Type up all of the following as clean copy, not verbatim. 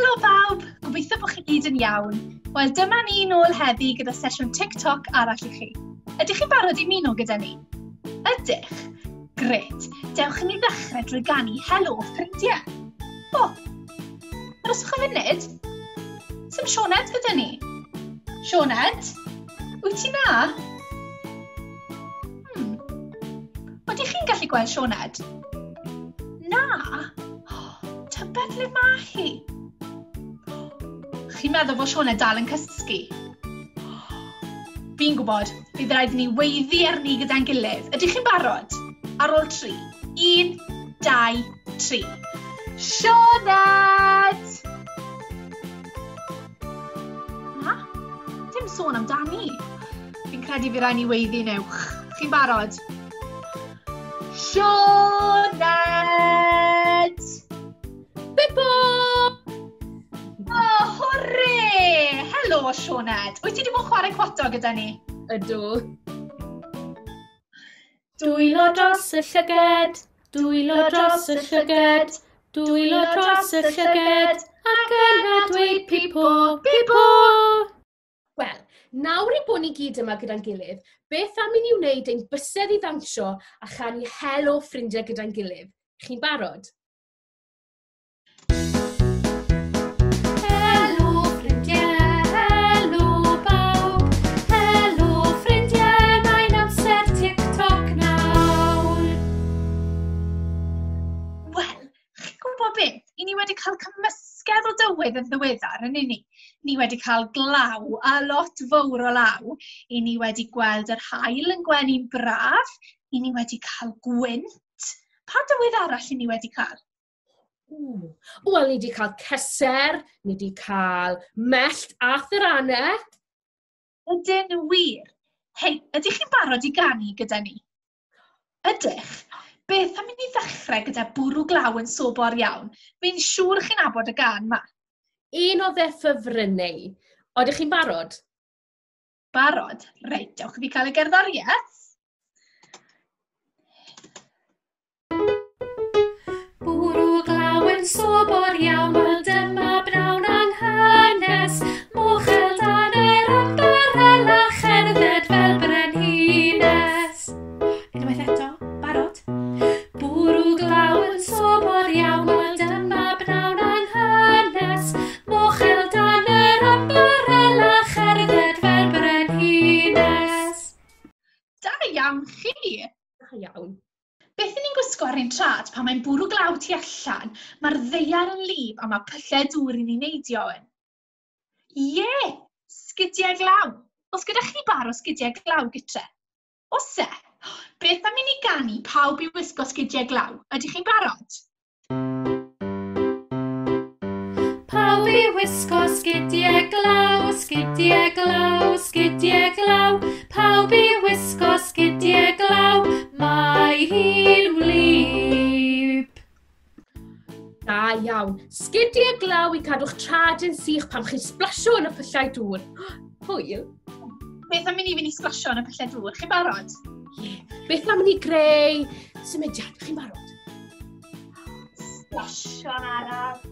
Helo bawb! Gobeithio bod chi gyd yn iawn. Wel, dyma ni nôl heddi gyda sesiwn TikTok arall i chi. Ydych chi'n barod i ymuno gyda ni? Ydych? Grêt! Dewch i ni ddechrau drwy ganu Helo ffrindiau. O! Arhoswch am funud. Sim Sioned gyda ni. Sioned? Wyt ti na? Ydych chi'n gallu gweld Sioned? Na? Tybed le mae hi? Chi'n meddwl bod Sioned dal yn cysgu? Fi'n gwybod, bydd rhaid i ni weiddi arni gyda'n gilydd. Ydych chi'n barod? Ar ôl 3. 1, 2, 3. Sioned! Na? Dim sôn amdani. Fi'n credu fydd rhaid ni weiddi'n uwch. Chi'n barod? Sioned! Pippo! Oh, hwrê! Helo, Sioned. Wyt ti wedi bod yn chwarae cwato gyda ni? Ydw. Dwylo dros y llyged, dwylo dros y llyged, dwylo dros y llyged, ac yna dweud pipo, pipo! Wel, nawr ein bod ni gyd yma gyda'n gilydd, beth am i ni wneud ein bysedd i ddawnsio a chanu helo ffrindiau gyda'n gilydd? Chi'n barod? Helo ffrindiau, helo bawb, helo ffrindiau, mae'n amser TikTok nawr. Wel, chi'n gwybod beth? I ni wedi cael cymysgedd o dywydd yn ddiweddar, yn ni? Ni wedi cael glaw, a lot fawr o law. I ni wedi gweld yr haul yn gwenu'n braf. I ni wedi cael gwynt. Pa dywydd arall i ni wedi cael? Wel, ni wedi cael ceser, ni wedi cael mellt a thyranau. Ydyn wir. Hei, ydych chi'n barod i ganu gyda ni? Ydych? Beth am i ni ddechrau gyda bwrw glaw yn sobor iawn? Fi'n siŵr chi'n nabod y gân 'ma. Un o fy ffefrynnau. Odych chi'n barod? Barod? Reit, dewch i fi cael y gerddoriaeth. Bwrw glaw yn sobor iawn, wel dyma bnawn anghynes. Mochel dan yr ymbarel a cherdded fel brenhines. Unwaith eto, barod? Bwrw glaw yn sobor iawn, wel dyma bnawn anghynes. Mochel dan yr ymbarel a cherdded fel brenhines. Da iawn chi! Da iawn. Beth 'y ni'n gwisgo ar ein traed pan mae'n bwrw glaw tu allan, mae'r ddaear yn wlyb a mae pyllau dŵr i ni'n neidio yn? Ie, sgidiau glaw. Oes gyda chi bar o sgidiau glaw gytre? Oes e? Beth am i ni ganu pawb i wisgo sgidiau glaw? Ydych chi'n barod? Pawb i wisgo sgidiau glaw, sgidiau glaw, sgidiau glaw. Pawb i wisgo sgidiau glaw, mae hi'n wlyb. Da iawn. Sgidiau glaw i cadw'ch traed yn sych pan chi'n splasio yn y pyllau dŵr. Hwyl. Beth am i ni fynd i splasio yn y pyllau dŵr? Chi'n barod? Ie. Beth am i ni greu symudiad? Chi'n barod? Splasio'n araf.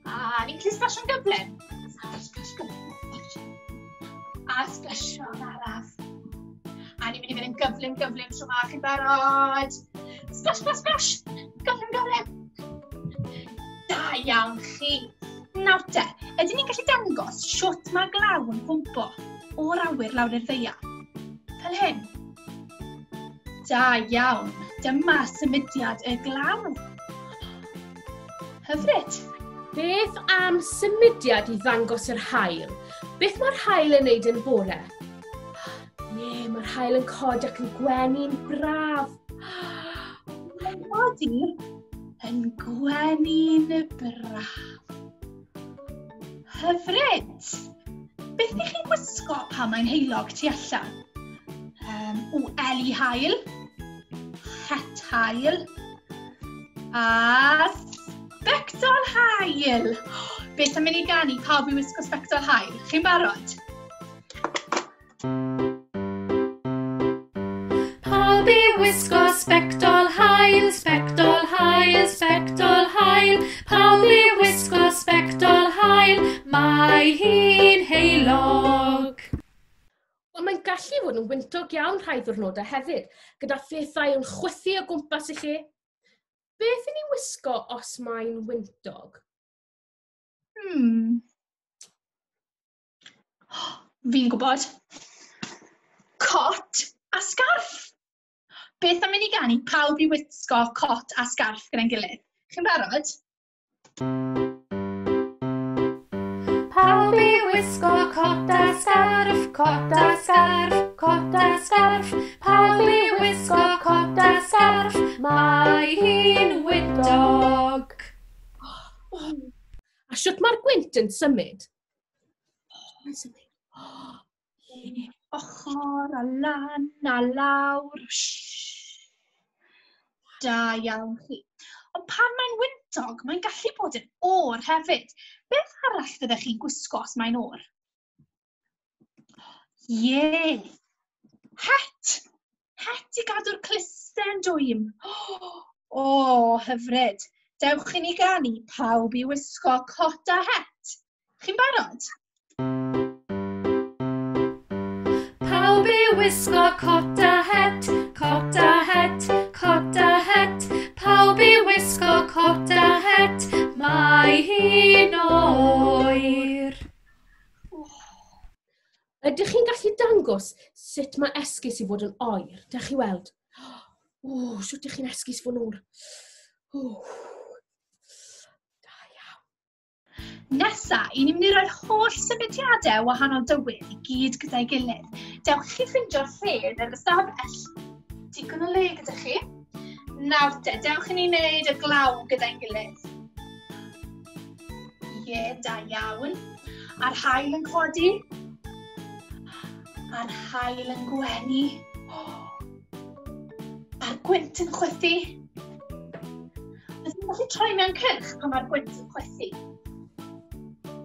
A ni'n gallu splasio'n gyflym. Splash, splash, gyflym. A splasio'n araf. A ni'n mynd i fynd yn gyflym, gyflym tro 'ma. Chi'n barod? Splash, splash, splash! Gyflym, gyflym! Da iawn chi! Nawr te, ydyn ni'n gallu dangos shwt mae glaw yn cwmpo o'r awyr lawr i'r ddaear? Fel hyn. Da iawn! Dyma symudiad y glaw. Hyfryd! Beth am symudiad i ddangos yr haul? Beth mae'r haul yn neud yn bore? Ie, mae'r haul yn codi ac yn gwenu'n braf. Mae'n codi yn gwenu'n braf. Hyfryd! Beth ydych chi'n gwisgo pan mae'n heulog tu allan? O, eli haul, het haul, a sbectol haul. Beth am i ni ganu pawb i wisgo sbectol haul? Chi'n barod? Pawb i wisgo sbectol haul, sbectol haul, sbectol haul. Pawb i wisgo fod yn wyntog iawn rhai ddwrnodau hefyd, gyda phethau yn chwythu o gwmpas y lle. Beth i ni wisgo os mae'n wyntog? Fi'n gwybod. Cot a sgarff. Beth am i ni ganu pawb i wisgo cot a sgarff gyda'n gilydd? Chi'n barod? Pawb i wisgo cot a sgarff, cot a sgarff, cot a sgarff. Pawb i wisgo cot a sgarff, mae hi'n wyntog. A shwt mae'r gwynt yn symud? Mae'n symud. Ochr a lan a lawr. Shhh. Da iawn chi. Ond pan mae'n wyntog, mae'n gallu bod yn oer hefyd. Beth arall fyddech chi'n gwisgo os mae'n oer? Ie! Het! Het i gadw'r clusten dwym. O, hyfryd. Dewch i ni ganu pawb i wisgo cot a het. Chi'n barod? Pawb i wisgo cot a het, cot a het, cot a het. Pawb i wisgo cot a het, mae hi'n oer. Ydych chi'n gallu dangos sut mae esgus i fod yn oer? Dewch chi weld. O, sut ydych chi'n esgus fod yn oer? O. Da iawn. Nesa, i ni'n mynd i roi'r holl symudiadau wahanol dywydd i gyd gyda'i gilydd. Dewch chi ffeindio'r lle yn yr ystafell. Digon o le gyda chi. Nawr te, dewch i ni wneud y glaw gyda'n gilydd. Ie, da iawn. A'r haul yn codi. A'r haul yn gwenu. A'r gwynt yn chwythu. Ydych chi'n gallu troi mewn cylch pan mae'r gwynt yn chwythu?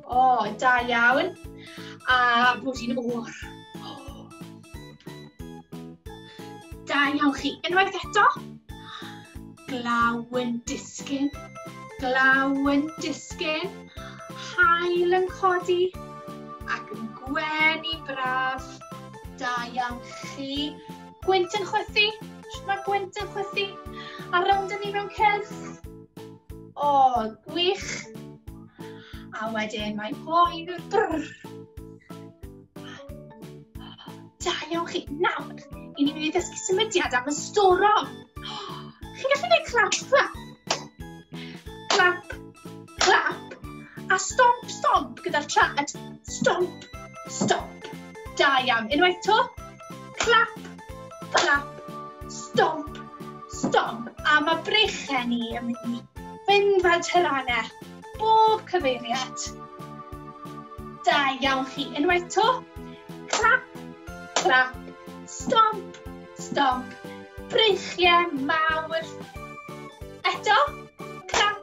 O, da iawn. A bod hi'n oer. Da iawn chi. Unwaith eto. Glaw yn disgyn. Glaw yn disgyn. Haul yn codi. Ac yn gwenu braf. Da iawn chi. Gwynt yn chwythu. Shwt mae gwynt yn chwythu? A rownd â ni mewn cylch. O, gwych. A wedyn mae'n oer. Brr. Da iawn chi. Nawr, i ni'n mynd i ddysgu symudiad am y storom. Chi'n gallu gwneud clap, clap. Clap, clap. A stomp, stomp gyda'r traed. Stomp, stomp. Da iawn. Unwaith 'to. Clap, clap. Stomp, stomp. A mae breichiau ni yn mynd i fynd fel taranau. Bob cyfeiriad. Da iawn chi. Unwaith 'to. Clap, clap. Stomp, stomp. Breichiau mawr. Eto. Clap,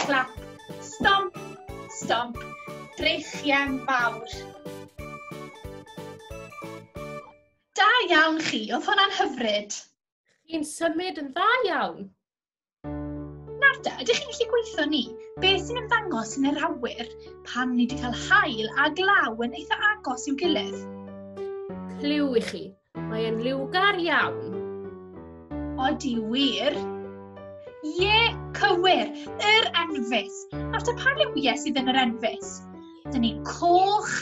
clap. Stomp, stomp. Breichiau mawr. Da iawn chi, oedd hwnna'n hyfryd. Chi'n symud yn dda iawn. Nawr te, ydych chi'n gallu gweithio ni? Beth sy'n ymddangos yn yr awyr pan ni wedi cael haul a glaw yn eitha agos i'w gilydd? Cliw i chi, mae e'n liwgar iawn. Odi wir. Ie, cywir, yr enfys. Nawr te, pa liwiau sydd yn yr enfys? Dyn ni coch,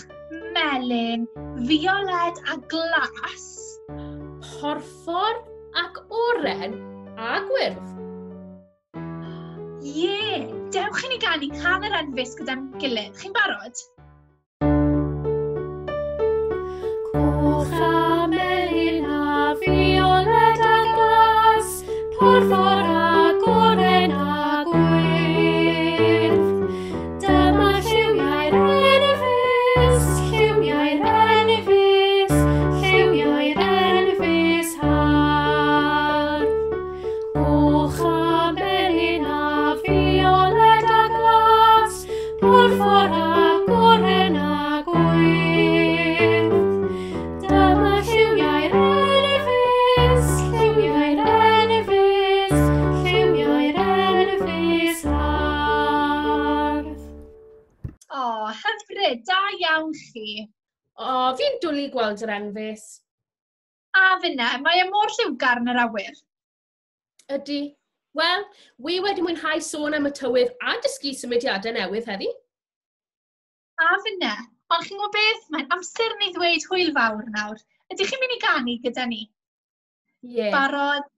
melyn, fioled a glas. Porffor ac oren a gwyrdd. Ie, dewch i ni ganu cân yr enfys gyda'n gilydd. Chi'n barod? Coch a melyn a fioled a glas, porffor ac oren a gwyrdd. Dyma lliwiau'r enfys, lliwiau'r enfys, lliwiau'r enfys hardd. Coch a melyn a fioled a glas, porffor ac oren a gwyrdd. Dyma lliwiau'r enfys, lliwiau'r enfys, lliwiau'r enfys hardd. O, hyfryd, da iawn chi. O, fi'n dwlu gweld yr enfys. A finne, mae e mor lliwgar yn yr awyr. Ydy. Wel, wi wedi mwynhau sôn am y tywydd a dysgu symudiadau newydd heddi. A finne. Ond chi'n gwybod beth? Mae'n amser ni ddweud hwyl fawr nawr. Ydych chi'n mynd i ganu gyda ni? Ie. Yeah. Barod?